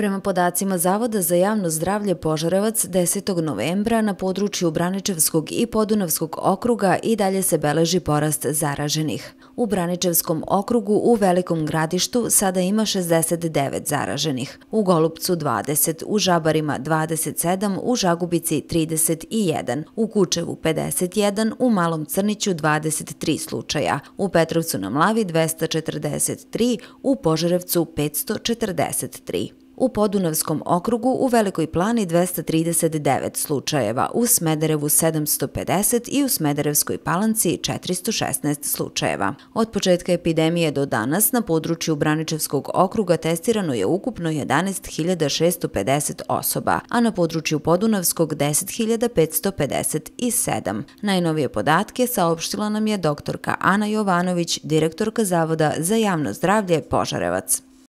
Prema podacima Zavoda za javno zdravlje Požarevac, 10. novembra na području Braničevskog i Podunavskog okruga i dalje se beleži porast zaraženih. U Braničevskom okrugu u Velikom Gradištu sada ima 69 zaraženih, u Golupcu 20, u Žabarima 27, u Žagubici 31, u Kučevu 51, u Malom Crniću 23 slučaja, u Petrovcu na Mlavi 243, u Požarevcu 543. U Podunavskom okrugu u Velikoj Plani 239 slučajeva, u Smederevu 750 i u Smederevskoj Palanci 416 slučajeva. Od početka epidemije do danas na području Braničevskog okruga testirano je ukupno 11.650 osoba, a na području Podunavskog 10.557. Najnovije podatke saopštila nam je doktorka Ana Jovanović, direktorka Zavoda za javno zdravlje Požarevac.